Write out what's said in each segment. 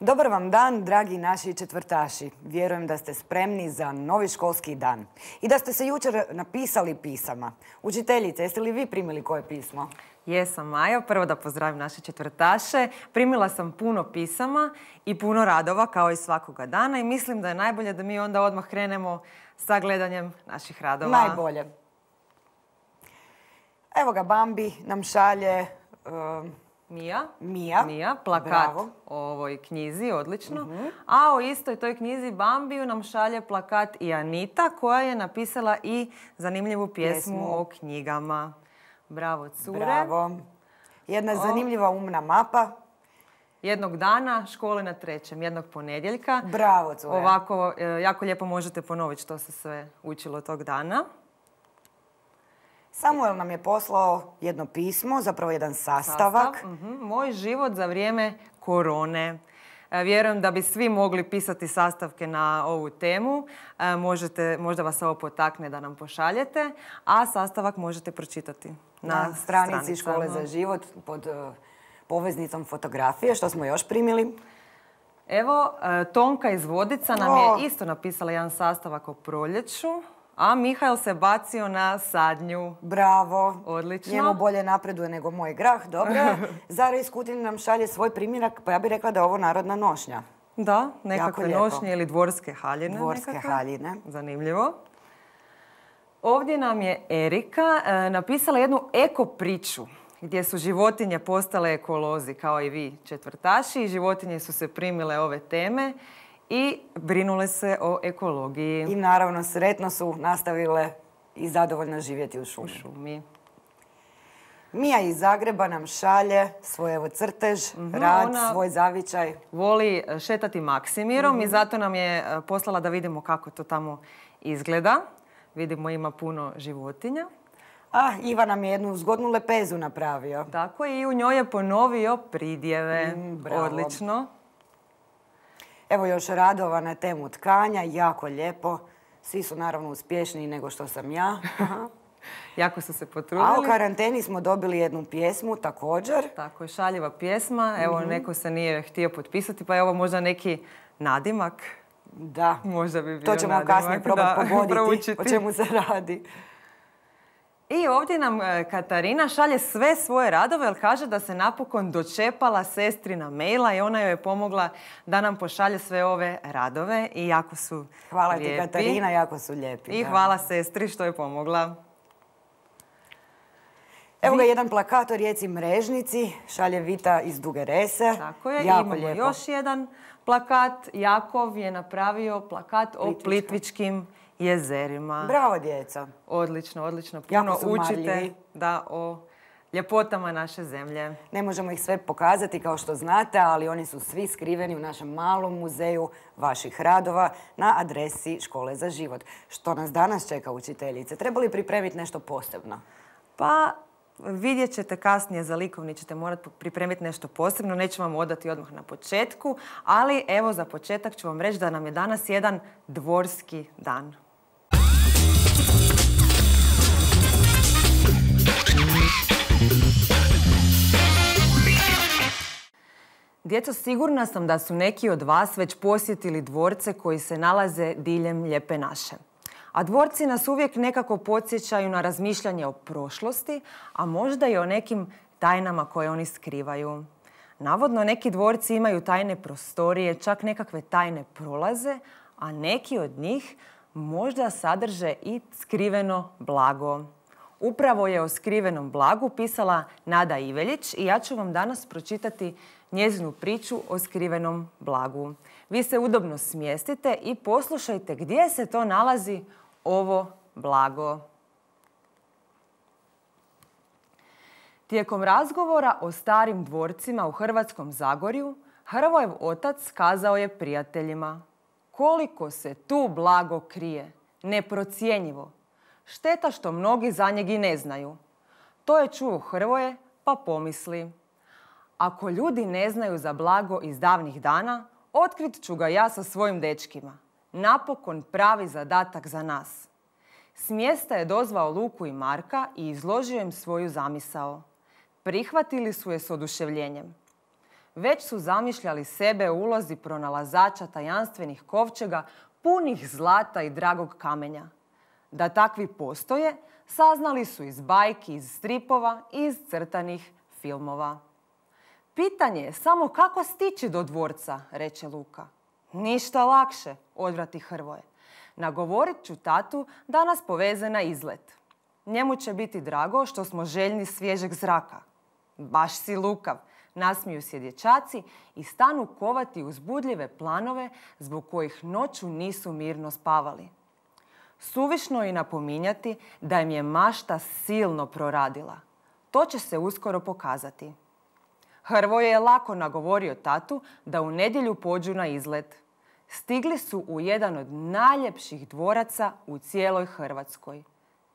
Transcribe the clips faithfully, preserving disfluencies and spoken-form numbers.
Dobar vam dan, dragi naši četvrtaši. Vjerujem da ste spremni za novi školski dan. I da ste se jučer napisali pisama. Učiteljice, jeste li vi primili koje pismo? Jesam, Maja. Prvo da pozdravim naše četvrtaše. Primila sam puno pisama i puno radova kao i svakoga dana i mislim da je najbolje da mi onda odmah krenemo sa gledanjem naših radova. Najbolje. Evo ga, Bambi nam šalje... Uh, Mija. Mija. Mija, plakat Bravo. o ovoj knjizi, odlično. Uh-huh. A o istoj toj knjizi Bambiju nam šalje plakat i Anita koja je napisala i zanimljivu pjesmu, pjesmu. o knjigama. Bravo, cure. Bravo. Jedna o... zanimljiva umna mapa. Jednog dana, škole na trećem, jednog ponedjeljka. Bravo, cure. Ovako, jako lijepo možete ponoviti što se sve učilo tog dana. Samuel nam je poslao jedno pismo, zapravo jedan sastavak. Sastav. Uh-huh. Moj život za vrijeme korone. E, vjerujem da bi svi mogli pisati sastavke na ovu temu. E, možete, možda vas ovo potakne da nam pošaljete, a sastavak možete pročitati na, na stranici stranicama. Škole za život pod uh, poveznicom fotografije. Što smo još primili? Evo, e, Tonka iz Vodica nam o. je isto napisala jedan sastavak o proljeću. A Mihael se bacio na sadnju. Bravo. Odlično. Njemu bolje napreduje nego moj grah. Dobro. Zara iz Kutine nam šalje svoj primjerak, pa ja bih rekla da je ovo narodna nošnja. Da, nekakve nošnje ili dvorske haljine. Dvorske nekakve. haljine. Zanimljivo. Ovdje nam je Erika e, napisala jednu eko priču gdje su životinje postale ekolozi, kao i vi četvrtaši. Životinje su se primile ove teme i brinule se o ekologiji. I naravno sretno su nastavile i zadovoljno živjeti u šumi. U šumi. Mija iz Zagreba nam šalje svoj evo crtež, mm-hmm, rad, svoj zavičaj. Voli šetati Maksimirom mm-hmm. i zato nam je poslala da vidimo kako to tamo izgleda. Vidimo ima puno životinja. Ah, Iva nam je jednu zgodnu lepezu napravio. Tako i u njoj je ponovio pridjeve. Mm, bravo. Odlično. Evo još radova na temu tkanja, jako lijepo. Svi su naravno uspješniji nego što sam ja. Jako su se potrudili. A u karanteni smo dobili jednu pjesmu također. Tako je, šaljiva pjesma. Evo, mm-hmm. neko se nije htio potpisati, pa je ovo možda neki nadimak. Da. Možda bi bio to ćemo nadimak. kasnije probati pogoditi o čemu se radi. I ovdje nam Katarina šalje sve svoje radove, jer kaže da se napokon dočepala sestrina maila i ona joj je pomogla da nam pošalje sve ove radove i jako su hvala lijepi. Hvala ti Katarina, jako su lijepi. I da. hvala sestri što je pomogla. Evo ga jedan plakat o rijeci Mrežnici, šalje Vita iz Duge Rese. Tako je, jako imamo lijepo. još jedan plakat. Jakov je napravio plakat o Plitvičkim jezerima. Bravo, djeca. Odlično, odlično. Puno učite da o ljepotama naše zemlje. Ne možemo ih sve pokazati kao što znate, ali oni su svi skriveni u našem malom muzeju vaših radova na adresi Škole za život. Što nas danas čeka, učiteljice? Treba li pripremiti nešto posebno? Pa vidjet ćete kasnije, za likovni ćete morati pripremiti nešto posebno. Neću vam odati odmah na početku, ali evo za početak ću vam reći da nam je danas jedan dvorski dan. Djeco, sigurna sam da su neki od vas već posjetili dvorce koji se nalaze diljem Lijepe naše. A dvorci nas uvijek nekako podsjećaju na razmišljanje o prošlosti, a možda i o nekim tajnama koje oni skrivaju. Navodno, neki dvorci imaju tajne prostorije, čak nekakve tajne prolaze, a neki od njih možda sadrže i skriveno blago. Upravo je o skrivenom blagu pisala Nada Iveljić i ja ću vam danas pročitati njezinu priču o skrivenom blagu. Vi se udobno smjestite i poslušajte gdje se to nalazi ovo blago. Tijekom razgovora o starim dvorcima u Hrvatskom Zagorju, Hrvojev otac kazao je prijateljima: koliko se tu blago krije, neprocjenjivo. Šteta što mnogi za njeg i ne znaju. To je čuo Hrvoje, pa pomisli: ako ljudi ne znaju za blago iz davnih dana, otkrit ću ga ja sa svojim dečkima. Napokon pravi zadatak za nas. S mjesta je dozvao Luku i Marka i izložio im svoju zamisao. Prihvatili su je s oduševljenjem. već su zamišljali sebe u ulozi pronalazača tajanstvenih kovčega punih zlata i dragog kamenja. Da takvi postoje, saznali su iz bajki, iz stripova i iz crtanih filmova. Pitanje je samo kako stići do dvorca, reče Luka. Ništa lakše, odvrati Hrvoje. Nagovorit ću tatu da nas poveze na izlet. Njemu će biti drago što smo željni svježeg zraka. Baš si lukav, nasmiju se dječaci i stanu kovati uzbudljive planove zbog kojih noću nisu mirno spavali. Suvišno je napominjati da im je mašta silno proradila. To će se uskoro pokazati. Hrvoje je lako nagovorio tatu da u nedjelju pođu na izlet. Stigli su u jedan od najljepših dvoraca u cijeloj Hrvatskoj,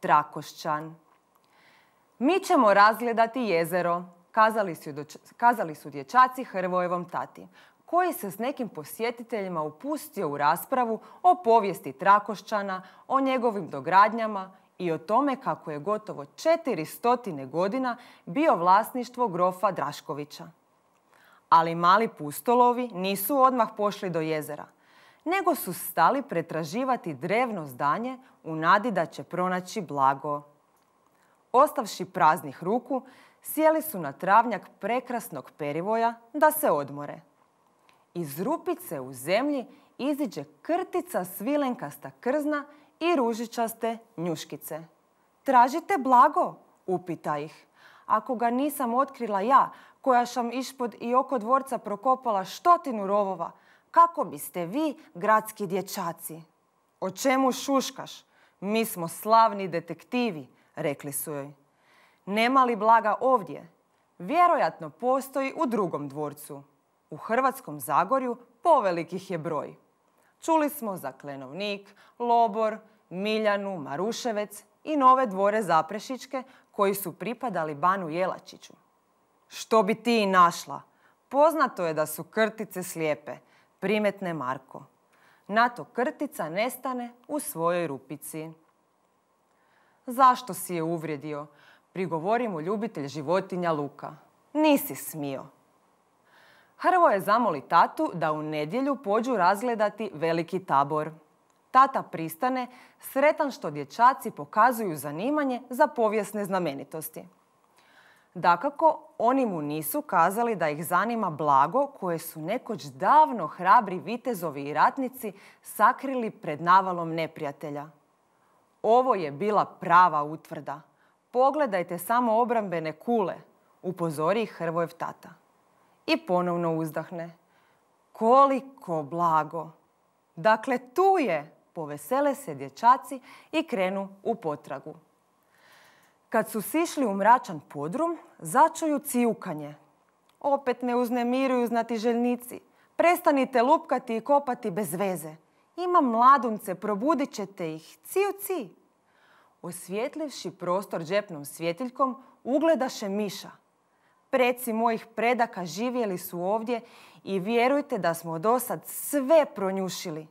Trakošćan. Mi ćemo razgledati jezero, kazali su, kazali su dječaci Hrvojevom tati, koji se s nekim posjetiteljima upustio u raspravu o povijesti Trakošćana, o njegovim dogradnjama i o tome kako je gotovo četiri stotine godina bio vlasništvo grofa Draškovića. Ali mali pustolovi nisu odmah pošli do jezera, nego su stali pretraživati drevno zdanje u nadi da će pronaći blago. Ostavši praznih ruku, sjeli su na travnjak prekrasnog perivoja da se odmore. Iz rupice u zemlji iziđe krtica svilenkasta krzna i ružičaste njuškice. Tražite blago? Upita ih. Ako ga nisam otkrila ja, koja sam ispod i oko dvorca prokopala stotinu rovova, kako biste vi, gradski dječaci? O čemu šuškaš? Mi smo slavni detektivi, rekli su joj. Nema li blaga ovdje? Vjerojatno postoji u drugom dvorcu. U Hrvatskom Zagorju povelikih je broj. Čuli smo za Klenovnik, Lobor, Miljanu, Maruševec i nove dvore Zaprešićke koji su pripadali banu Jelačiću. Što bi ti i našla? Poznato je da su krtice slijepe, primetne Marko. Na to krtica nestane u svojoj rupici. Zašto si je uvrijedio? Prigovori mu ljubitelj životinja Luka. Nisi smio. Hrvoje zamoli tatu da u nedjelju pođu razgledati veliki tabor. Tata pristane, sretan što dječaci pokazuju zanimanje za povijesne znamenitosti. Dakako, oni mu nisu kazali da ih zanima blago koje su nekoć davno hrabri vitezovi i ratnici sakrili pred navalom neprijatelja. Ovo je bila prava utvrda. Pogledajte samo obrambene kule, upozori ih Hrvojev tata. I ponovno uzdahne. Koliko blago! Dakle, tu je! Povesele se dječaci i krenu u potragu. Kad su sišli u mračan podrum, začuju cijukanje. Opet ne uznemiruju znatiželjnici. Prestanite lupkati i kopati bez veze. Ima mladunce, probudit ćete ih. Ciju, ci. Osvjetljivši prostor džepnom svjetiljkom, ugledaše miša. Preci mojih predaka živjeli su ovdje i vjerujte da smo dosad sve pronjušili.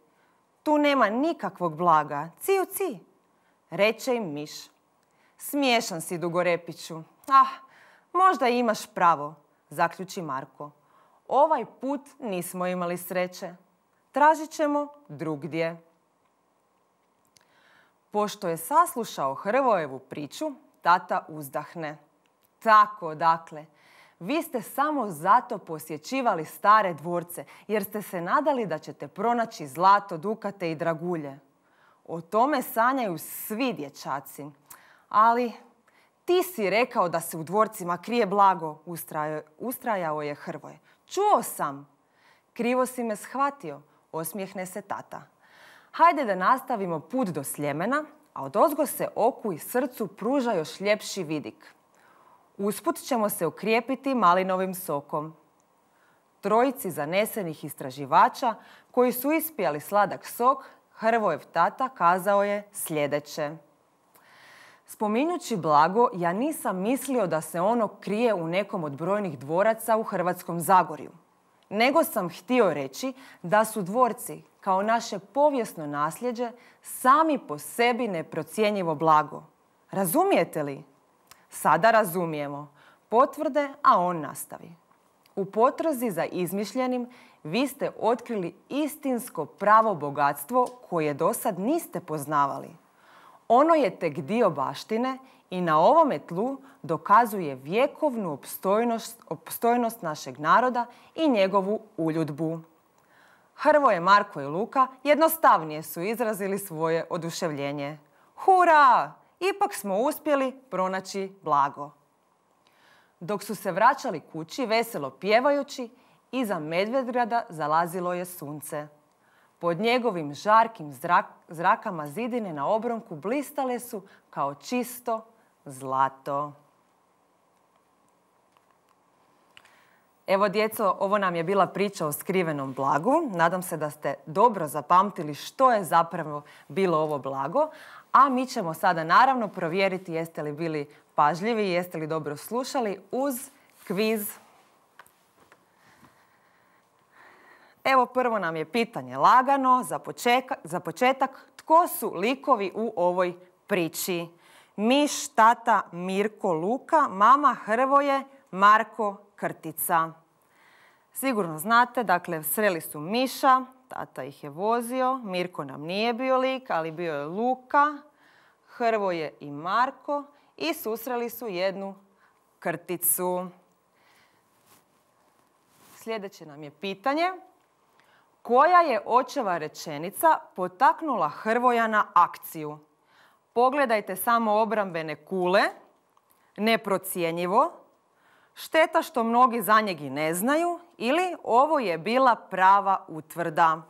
Tu nema nikakvog blaga. Ciju, ci. Reče im miš. Smiješan si, Dugorepiću. Ah, možda imaš pravo, zaključi Marko. Ovaj put nismo imali sreće. Tražit ćemo drugdje. Pošto je saslušao Hrvojevu priču, tata uzdahne. Tako, dakle, vi ste samo zato posjećivali stare dvorce, jer ste se nadali da ćete pronaći zlato, dukate i dragulje. O tome sanjaju svi dječaci. Ali ti si rekao da se u dvorcima krije blago, ustrajao je Hrvoje. Čuo sam. Krivo si me shvatio, osmijehne se tata. Hajde da nastavimo put do Sljemena, a odozgo se oku i srcu pruža još ljepši vidik. Usput ćemo se okrijepiti malinovim sokom. Trojici zanesenih istraživača koji su ispijali sladak sok, Hrvojev tata kazao je sljedeće. Spominjući blago, ja nisam mislio da se ono krije u nekom od brojnih dvoraca u Hrvatskom Zagorju. Nego sam htio reći da su dvorci, kao naše povijesno nasljeđe, sami po sebi neprocjenjivo blago. Razumijete li? Sada razumijemo. Potvrde, a on nastavi. U potrazi za izmišljenim vi ste otkrili istinsko pravo bogatstvo koje do sad niste poznavali. Ono je tek dio baštine i na ovome tlu dokazuje vjekovnu opstojnost, opstojnost našeg naroda i njegovu uljudbu. Hrvoje, Marko i Luka jednostavnije su izrazili svoje oduševljenje. Hura! Ipak smo uspjeli pronaći blago. Dok su se vraćali kući, veselo pjevajući, iza Medvedgrada zalazilo je sunce. Pod njegovim žarkim zrak, zrakama zidine na obronku blistale su kao čisto zlato. Evo djeco, ovo nam je bila priča o skrivenom blagu. Nadam se da ste dobro zapamtili što je zapravo bilo ovo blago. A mi ćemo sada naravno provjeriti jeste li bili pažljivi, jeste li dobro slušali uz kviz. Evo prvo nam je pitanje lagano za, počeka, za početak. Tko su likovi u ovoj priči? Miš, tata, Mirko, Luka, mama, Hrvoje, Marko, Krtica. Sigurno znate, dakle, sreli su Miša, tata ih je vozio, Mirko nam nije bio lik, ali bio je Luka, Hrvoje i Marko i susreli su jednu Krticu. Sljedeće nam je pitanje. Koja je očeva rečenica potaknula Hrvoja na akciju? Pogledajte samo obrambene kule, neprocjenjivo, šteta što mnogi za njeg i ne znaju ili ovo je bila prava utvrda.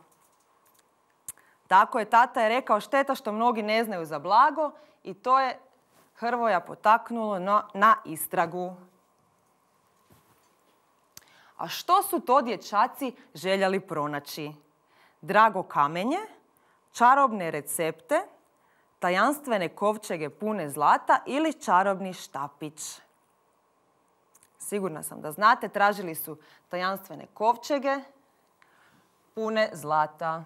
Tako je, tata je rekao šteta što mnogi ne znaju za blago i to je Hrvoja potaknulo na, na istragu. A što su to dječaci željeli pronaći? Drago kamenje, čarobne recepte, tajanstvene kovčege pune zlata ili čarobni štapić? Sigurna sam da znate, tražili su tajanstvene kovčege pune zlata.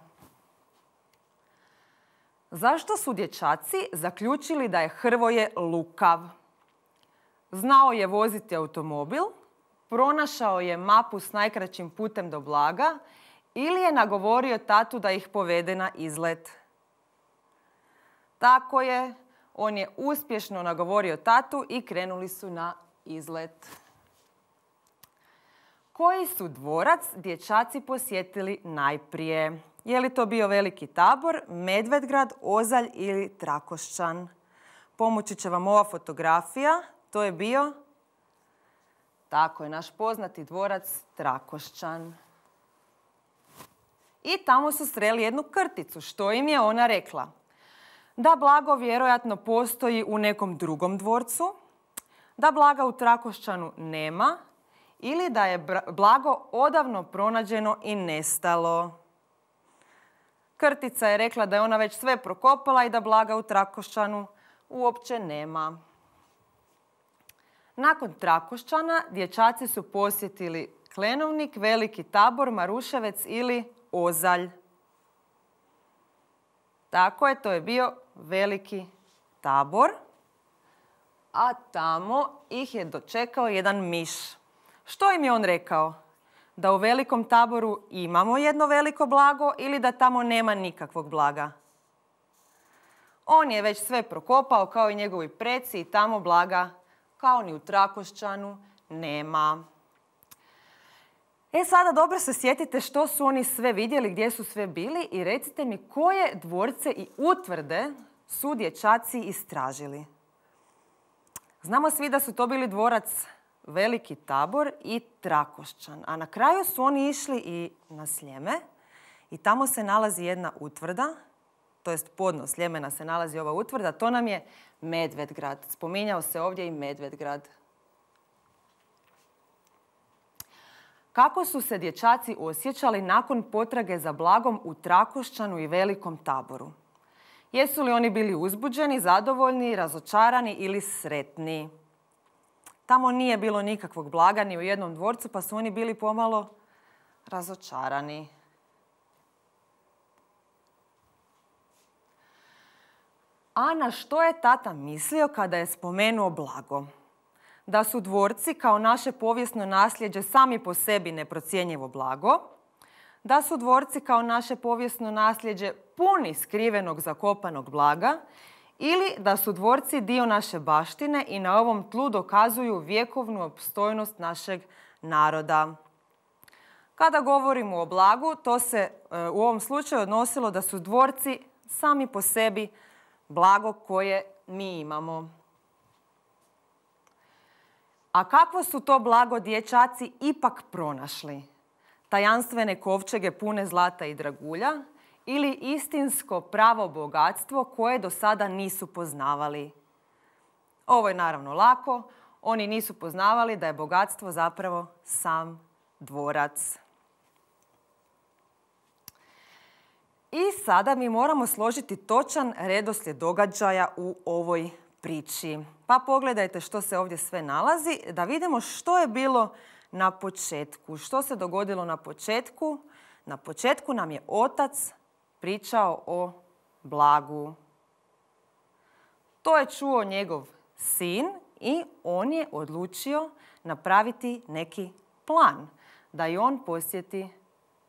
Zašto su dječaci zaključili da je Hrvoje lukav? Znao je voziti automobil, pronašao je mapu s najkraćim putem do blaga ili je nagovorio tatu da ih povede na izlet. Tako je, on je uspješno nagovorio tatu i krenuli su na izlet. Koji su dvorac dječaci posjetili najprije? Je li to bio Veliki Tabor, Medvedgrad, Ozalj ili Trakošćan? Pomoći će vam ova fotografija. To je bio, tako je, naš poznati dvorac Trakošćan. I tamo su sreli jednu Krticu. Što im je ona rekla? Da blago vjerojatno postoji u nekom drugom dvorcu, da blaga u Trakošćanu nema ili da je blago odavno pronađeno i nestalo. Krtica je rekla da je ona već sve prokopala i da blaga u Trakošćanu uopće nema. Nakon Trakošćana dječaci su posjetili Klenovnik, Veliki Tabor, Maruševec ili Ozalj. Tako je, to je bio Veliki Tabor, a tamo ih je dočekao jedan miš. Što im je on rekao? Da u Velikom Taboru imamo jedno veliko blago ili da tamo nema nikakvog blaga? On je već sve prokopao kao i njegovi preci i tamo blaga kao ni u Trakošćanu nema. E sada dobro se sjetite što su oni sve vidjeli, gdje su sve bili i recite mi koje dvorce i utvrde su dječaci istražili. Znamo svi da su to bili dvorac Veliki Tabor i Trakošćan, a na kraju su oni išli i na Sljeme i tamo se nalazi jedna utvrda, to jest podno Sljemena se nalazi ova utvrda, to nam je Medvedgrad. Spominjao se ovdje i Medvedgrad. Kako su se dječaci osjećali nakon potrage za blagom u Trakošćanu i Velikom Taboru? Jesu li oni bili uzbuđeni, zadovoljni, razočarani ili sretni? Tamo nije bilo nikakvog blaga ni u jednom dvorcu, pa su oni bili pomalo razočarani. A na što je tata mislio kada je spomenuo blago? da su dvorci kao naše povijesno nasljeđe sami po sebi neprocjenjivo blago, da su dvorci kao naše povijesno nasljeđe puni skrivenog zakopanog blaga ili da su dvorci dio naše baštine i na ovom tlu dokazuju vjekovnu opstojnost našeg naroda. Kada govorimo o blagu, to se u ovom slučaju odnosilo da su dvorci sami po sebi blago koje mi imamo. A kakvo su to blago dječaci ipak pronašli? Tajanstvene kovčege pune zlata i dragulja ili istinsko pravo bogatstvo koje do sada nisu poznavali? Ovo je naravno lako. Oni nisu poznavali da je bogatstvo zapravo sam dvorac. I sada mi moramo složiti točan redoslijed događaja u ovoj priči. Pa pogledajte što se ovdje sve nalazi, da vidimo što je bilo na početku. Što se dogodilo na početku? Na početku nam je otac pričao o blagu. To je čuo njegov sin i on je odlučio napraviti neki plan da i on posjeti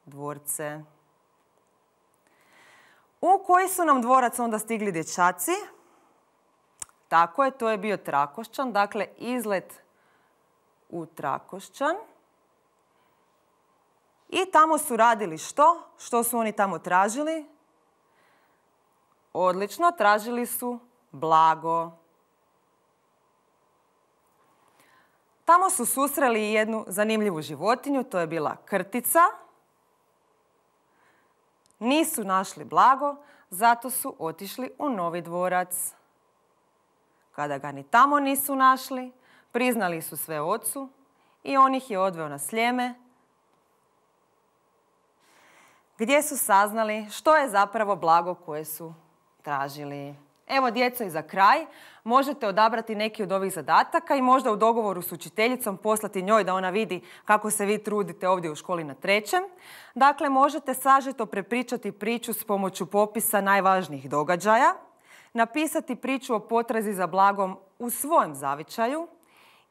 dvorce. U koji su nam dvorac onda stigli dječaci? Tako je, to je bio Trakošćan, dakle izlet u Trakošćan. I tamo su radili što? Što su oni tamo tražili? Odlično, tražili su blago. Tamo su susreli jednu zanimljivu životinju, to je bila krtica. Nisu našli blago, zato su otišli u novi dvorac. Kada ga ni tamo nisu našli, priznali su sve ocu i on ih je odveo na Sljeme, gdje su saznali što je zapravo blago koje su tražili. Evo, djeco, i za kraj možete odabrati neki od ovih zadataka i možda u dogovoru s učiteljicom poslati njoj da ona vidi kako se vi trudite ovdje u školi na trećem. Dakle, možete sažeto prepričati priču s pomoću popisa najvažnijih događaja, napisati priču o potrazi za blagom u svojem zavičaju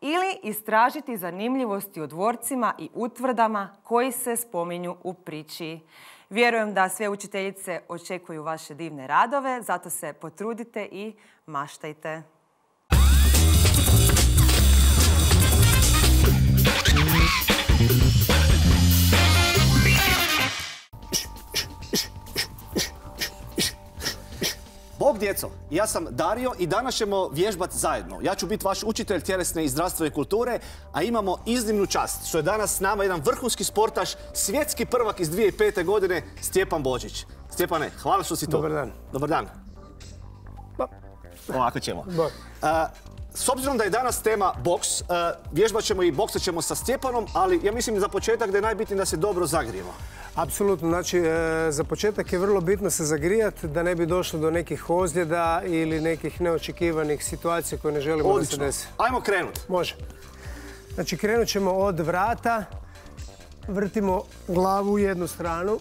ili istražiti zanimljivosti o dvorcima i utvrdama koji se spominju u priči. Vjerujem da sve učiteljice očekuju vaše divne radove, zato se potrudite i maštajte. Bog djeco, ja sam Dario i danas ćemo vježbati zajedno. Ja ću biti vaš učitelj tjelesne i zdravstvene kulture, a imamo iznimnu čast što je danas s nama jedan vrhunski sportaš, svjetski prvak iz dvije tisuće pete. godine, Stjepan Božić. Stjepane, hvala što si tu. Dobar dan. Dobar dan. Ovako ćemo. Bok. S obzirom da je danas tema boks, vježbat ćemo i boksat ćemo sa Stjepanom, ali ja mislim za početak da je najbitnije da se dobro zagrijemo. Apsolutno, znači za početak je vrlo bitno se zagrijati da ne bi došlo do nekih ozljeda ili nekih neočekivanih situacija koje ne želimo Odlično. da se desi. Ajmo krenut. Može. Znači krenut ćemo od vrata, vrtimo glavu u jednu stranu.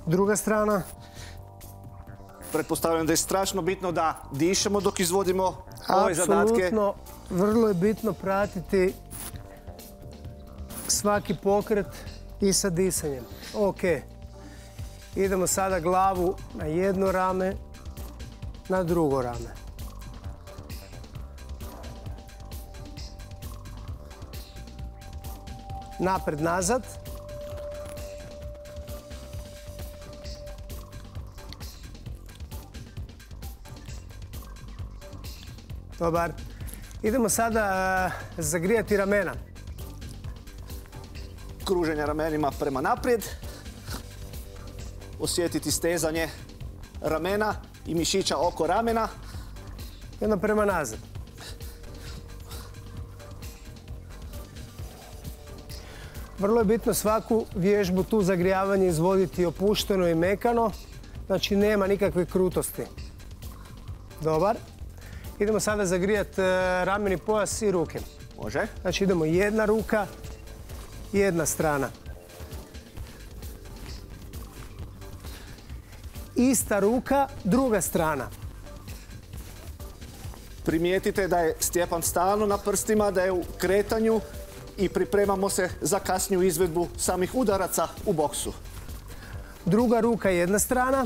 Druga strana. Pretpostavljam da je strašno bitno da dišemo dok izvodimo ove zadatke. Apsolutno, vrlo je bitno pratiti svaki pokret i sa disanjem. Ok. Idemo sada glavu na jedno rame, na drugo rame. Napred, nazad. Dobar. Idemo sada zagrijati ramena. Kruženja ramenima prema naprijed. Osjetiti stezanje ramena i mišića oko ramena. Jedno prema nazad. Vrlo je bitno svaku vježbu tu zagrijavanje izvoditi opušteno i mekano. Znači nema nikakve krutosti. Dobar. Idemo sada zagrijati rameni pojas i ruke. Može. Znači idemo jedna ruka, jedna strana. Ista ruka, druga strana. Primijetite da je Stjepan stalno na prstima, da je u kretanju i pripremamo se za kasniju izvedbu samih udaraca u boksu. Druga ruka jedna strana.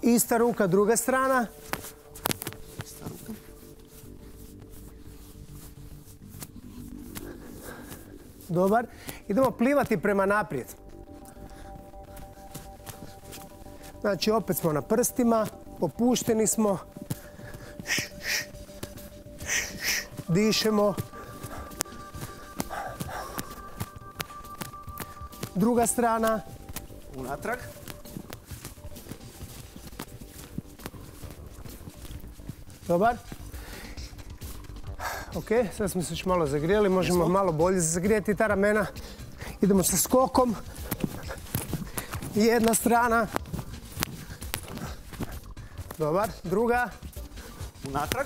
Ista ruka druga strana. Dobar. Idemo plivati prema naprijed. Znači, opet smo na prstima, popušteni smo. Dišemo. Druga strana. Unatrag. Dobar. Ok, sad smo se još malo zagrijeli, možemo malo bolje zagrijeti ta ramena. Idemo sa skokom. Jedna strana. Dobar, druga. Unatrag.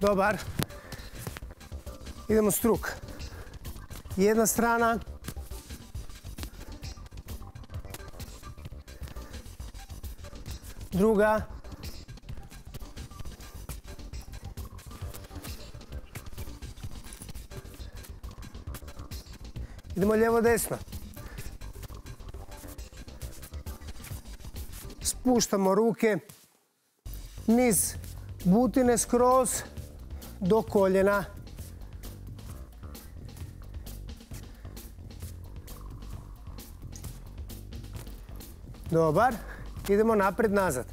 Dobar. Idemo struk. Jedna strana. Druga. Idemo lijevo desno. Spuštamo ruke niz butine skroz do koljena. Dobar. Idemo napred nazad.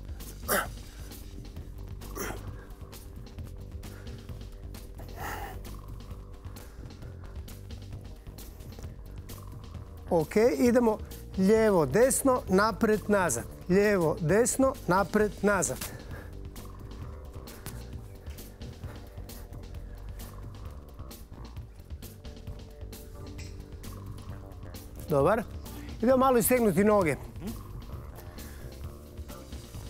Ok, idemo lijevo, desno, napred, nazad. Lijevo, desno, napred, nazad. Dobar. Idemo malo istegnuti noge.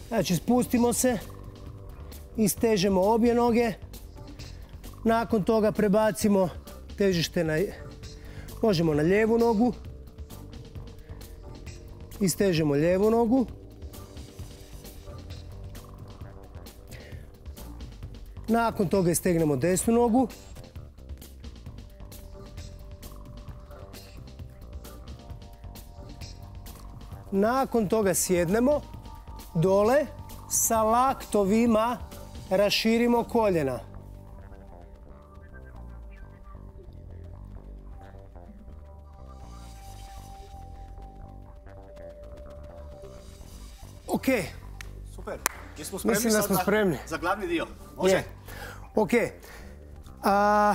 Znači, spustimo se, istežemo obje noge. Nakon toga prebacimo težište na, možemo na lijevu nogu. Istežemo lijevu nogu. Nakon toga istegnemo desnu nogu. Nakon toga sjednemo dole, sa laktovima raširimo koljena. Ok. Super. Jesmo spremni Mislim da sad smo za- spremni. za glavni dio? Može? Je. Ok. A,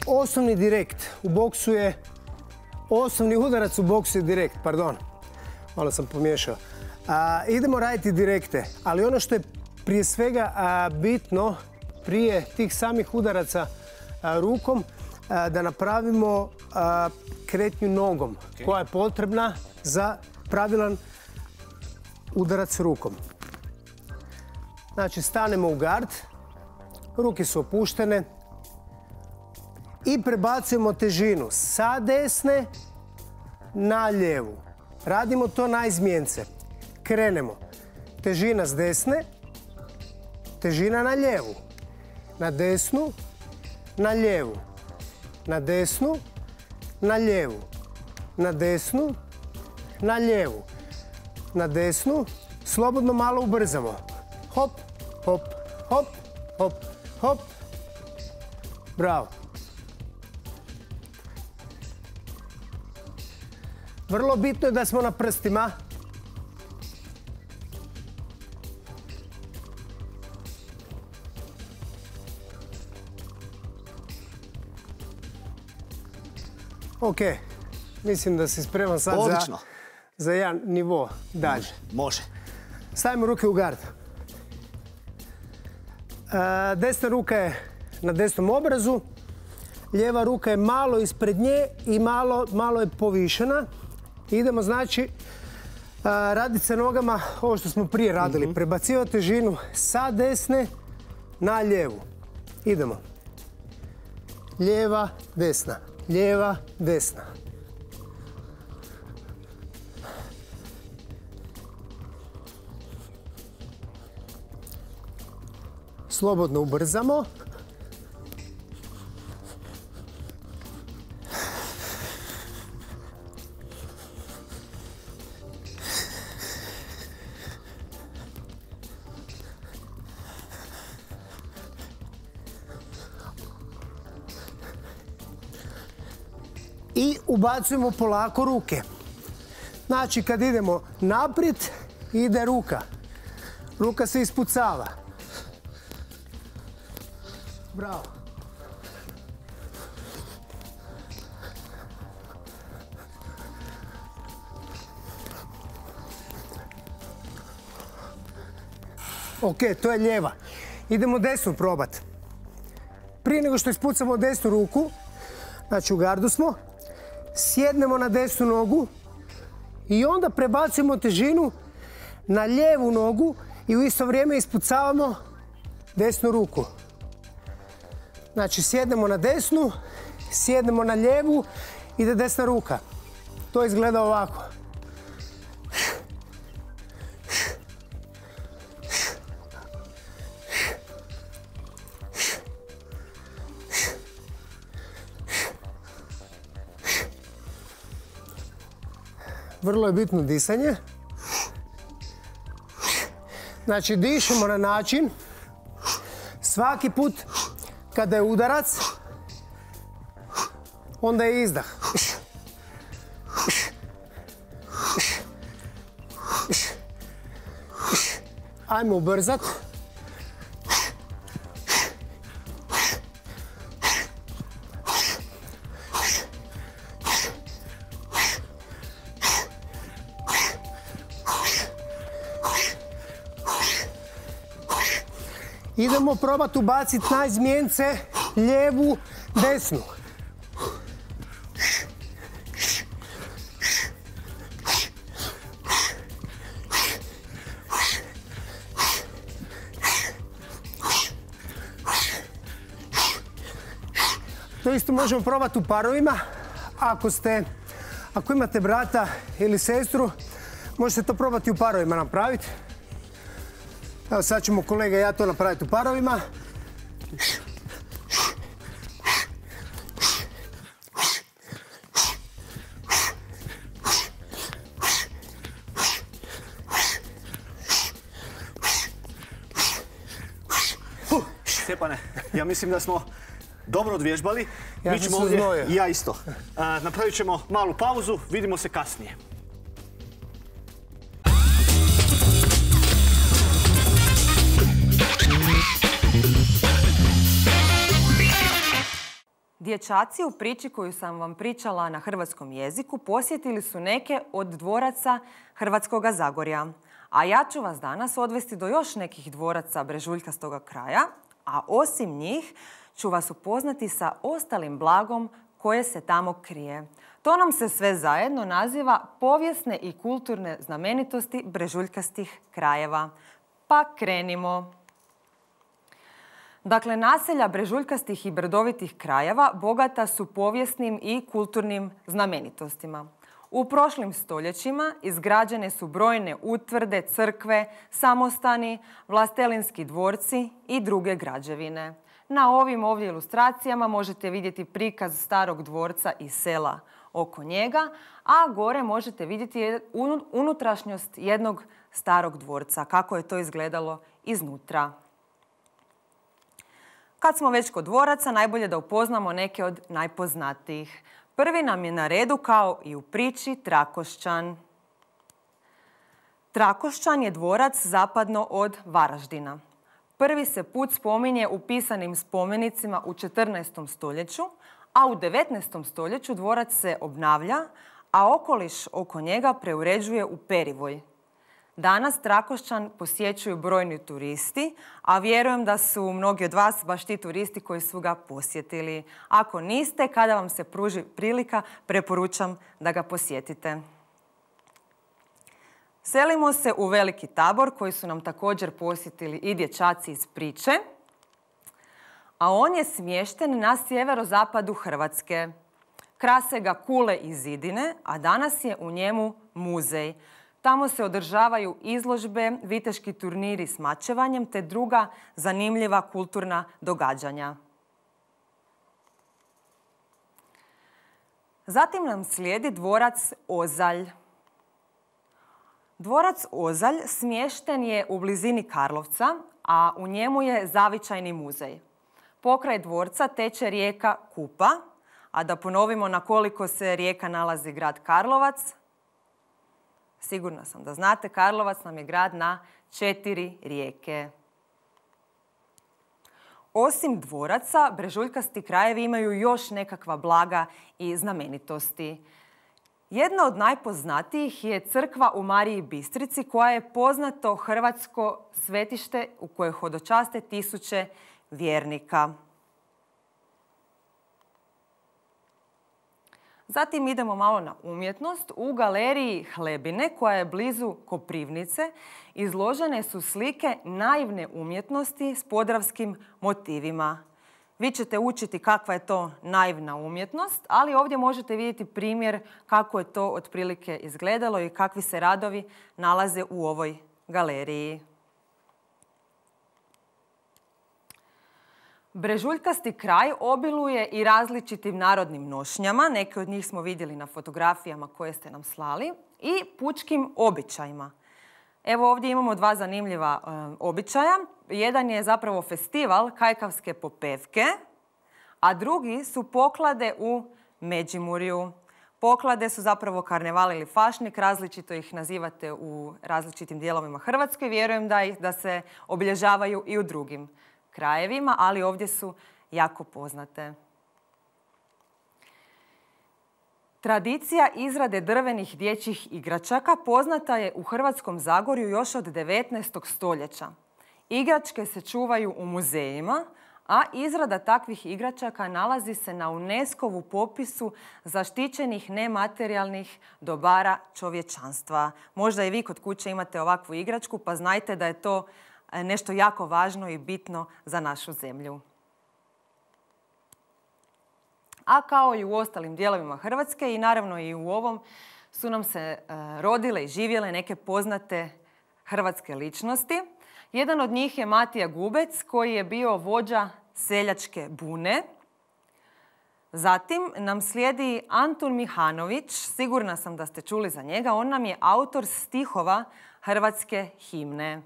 osnovni direkt u boksu je, osnovni udarac u boksu je direkt, pardon. Malo sam pomiješao. A, idemo raditi direkte, ali ono što je prije svega a, bitno prije tih samih udaraca a, rukom, a, da napravimo a, kretnju nogom Okay. koja je potrebna za pravilan udarac rukom. Znači, stanemo u gard, ruke su opuštene i prebacujemo težinu sa desne na lijevu. Radimo to na izmjence. Krenemo. Težina s desne, težina na lijevu. Na desnu, na lijevu. Na desnu, na lijevu. Na desnu, na lijevu. Na desnu, slobodno malo ubrzamo. Hop, hop, hop, hop, hop. Bravo. Vrlo bitno je da smo na prstima. Ok, mislim da si spreman sad za, Odlično. za jedan nivo dalje. Može. Stavimo ruke u gard. E, desna ruka je na desnom obrazu, lijeva ruka je malo ispred nje i malo, malo je povišena. Idemo znači raditi sa nogama ovo što smo prije radili. Mm-hmm. Prebacivati težinu sa desne na lijevu. Idemo. Lijeva, desna. Lijeva, desna. slobodno ubrzamo. I ubacujemo polako ruke. Znači, kad idemo naprijed, ide ruka. Ruka se ispucava. Bravo. Ok, to je lijeva. Idemo desnu probati. Prije nego što ispucamo desnu ruku, znači u gardu smo, sjednemo na desnu nogu i onda prebacujemo težinu na lijevu nogu i u isto vrijeme ispucavamo desnu ruku. Znači sjednemo na desnu, sjednemo na lijevu, ide desna ruka. To izgleda ovako. Vrlo je bitno disanje. Znači, dišemo na način svaki put kada je udarac, onda je izdah. Ajmo ubrzat. Idemo probati ubaciti na izmjence lijevu, desnu. To isto možemo probati u parovima. Ako ste, ako imate brata ili sestru, možete to probati u parovima napraviti. Evo sad ćemo kolega i ja to napraviti u parovima. Stjepane, ja mislim da smo dobro odvježbali. Ja Mi sam ćemo se ovdje, znojio. i ja isto. A, napravit ćemo malu pauzu, vidimo se kasnije. Dječaci u priči koju sam vam pričala na hrvatskom jeziku posjetili su neke od dvoraca Hrvatskoga Zagorja. A ja ću vas danas odvesti do još nekih dvoraca brežuljkastoga kraja, a osim njih ću vas upoznati sa ostalim blagom koje se tamo krije. To nam se sve zajedno naziva povijesne i kulturne znamenitosti brežuljkastih krajeva. Pa krenimo. Dakle, naselja brežuljkastih i brdovitih krajeva bogata su povijesnim i kulturnim znamenitostima. U prošlim stoljećima izgrađene su brojne utvrde, crkve, samostani, vlastelinski dvorci i druge građevine. Na ovim ovdje ilustracijama možete vidjeti prikaz starog dvorca i sela oko njega, a gore možete vidjeti unutrašnjost jednog starog dvorca, kako je to izgledalo iznutra. Kad smo već kod dvoraca, najbolje da upoznamo neke od najpoznatijih. Prvi nam je na redu, kao i u priči, Trakošćan. Trakošćan je dvorac zapadno od Varaždina. Prvi se put spominje u pisanim spomenicima u četrnaestom stoljeću, a u devetnaestom stoljeću dvorac se obnavlja, a okoliš oko njega preuređuje u perivoj. Danas Trakošćan posjećuju brojni turisti, a vjerujem da su mnogi od vas baš ti turisti koji su ga posjetili. Ako niste, kada vam se pruži prilika, preporučam da ga posjetite. Selimo se u Veliki Tabor, koji su nam također posjetili i dječaci iz priče, a on je smješten na sjeverozapadu Hrvatske. Krase ga kule i zidine, a danas je u njemu muzej. Tamo se održavaju izložbe, viteški turniri s mačevanjem te druga zanimljiva kulturna događanja. Zatim nam slijedi dvorac Ozalj. Dvorac Ozalj smješten je u blizini Karlovca, a u njemu je zavičajni muzej. Pokraj dvorca teče rijeka Kupa, a da ponovimo na koliko se rijeka nalazi grad Karlovac. Sigurna sam da znate, Karlovac nam je grad na četiri rijeke. Osim dvoraca, brežuljkasti krajevi imaju još nekakva blaga i znamenitosti. Jedna od najpoznatijih je crkva u Mariji Bistrici, koja je poznato hrvatsko svetište u koje hodočaste tisuće vjernika. Zatim idemo malo na umjetnost. U galeriji Hlebine, koja je blizu Koprivnice, izložene su slike naivne umjetnosti s podravskim motivima. Vi ćete učiti kakva je to naivna umjetnost, ali ovdje možete vidjeti primjer kako je to otprilike izgledalo i kakvi se radovi nalaze u ovoj galeriji. Brežuljkasti kraj obiluje i različitim narodnim nošnjama, neke od njih smo vidjeli na fotografijama koje ste nam slali, i pučkim običajima. Evo ovdje imamo dva zanimljiva e, običaja. Jedan je zapravo festival kajkavske popevke, a drugi su poklade u Međimurju. Poklade su zapravo karneval ili fašnik, različito ih nazivate u različitim dijelovima Hrvatske. Vjerujem da, ih, da se obilježavaju i u drugim krajevima, ali ovdje su jako poznate. Tradicija izrade drvenih dječjih igračaka poznata je u Hrvatskom Zagorju još od devetnaestog stoljeća. Igračke se čuvaju u muzejima, a izrada takvih igračaka nalazi se na UNESCO-vu popisu zaštićenih nematerijalnih dobara čovječanstva. Možda i vi kod kuće imate ovakvu igračku, pa znajte da je to nešto jako važno i bitno za našu zemlju. A kao i u ostalim dijelovima Hrvatske i naravno i u ovom su nam se rodile i živjele neke poznate hrvatske ličnosti. Jedan od njih je Matija Gubec, koji je bio vođa seljačke bune. Zatim nam slijedi Antun Mihanović, sigurna sam da ste čuli za njega, on nam je autor stihova hrvatske himne.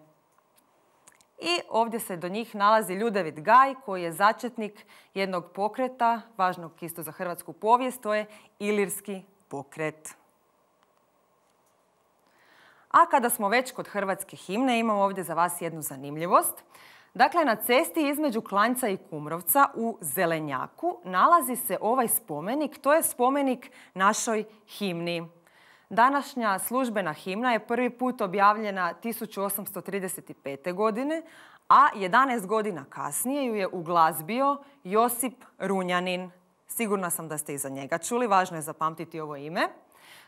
I ovdje se do njih nalazi Ljudevit Gaj, koji je začetnik jednog pokreta, važnog isto za hrvatsku povijest, to je Ilirski pokret. A kada smo već kod hrvatske himne, imamo ovdje za vas jednu zanimljivost. Dakle, na cesti između Klanjca i Kumrovca u Zelenjaku nalazi se ovaj spomenik, to je spomenik našoj himni. Današnja službena himna je prvi put objavljena tisuću osamsto trideset pete. godine, a jedanaest godina kasnije ju je uglazbio Josip Runjanin. Sigurna sam da ste i za njega čuli, važno je zapamtiti ovo ime.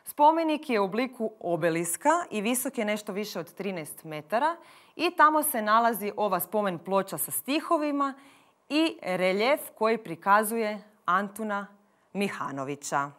Spomenik je u obliku obeliska i visok je nešto više od trinaest metara i tamo se nalazi ova spomen ploča sa stihovima i reljef koji prikazuje Antuna Mihanovića.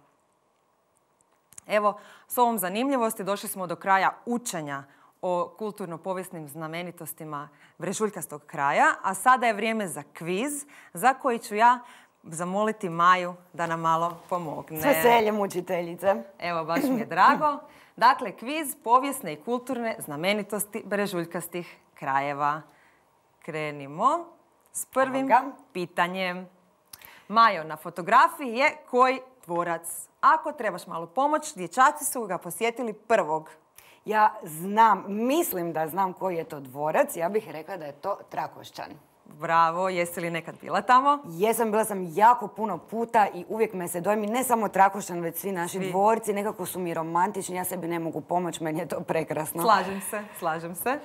Evo, s ovom zanimljivosti došli smo do kraja učenja o kulturno-povijesnim znamenitostima brežuljkastog kraja, a sada je vrijeme za kviz za koji ću ja zamoliti Maju da nam malo pomogne. S veseljem, učiteljice. Evo, baš mi je drago. Dakle, kviz povijesne i kulturne znamenitosti brežuljkastih krajeva. Krenimo s prvim pitanjem. Majo, na fotografiji je koji dvorac? Ako trebaš malo pomoć, dječaci su ga posjetili prvog. Ja znam, mislim da znam koji je to dvorac. Ja bih rekla da je to Trakošćan. Bravo, jesi li nekad bila tamo? Jesam, bila sam jako puno puta i uvijek me se dojmi, ne samo Trakošćan, već svi naši svi. dvorci, nekako su mi romantični, ja sebi ne mogu pomoći, meni je to prekrasno. Slažem se, slažem se.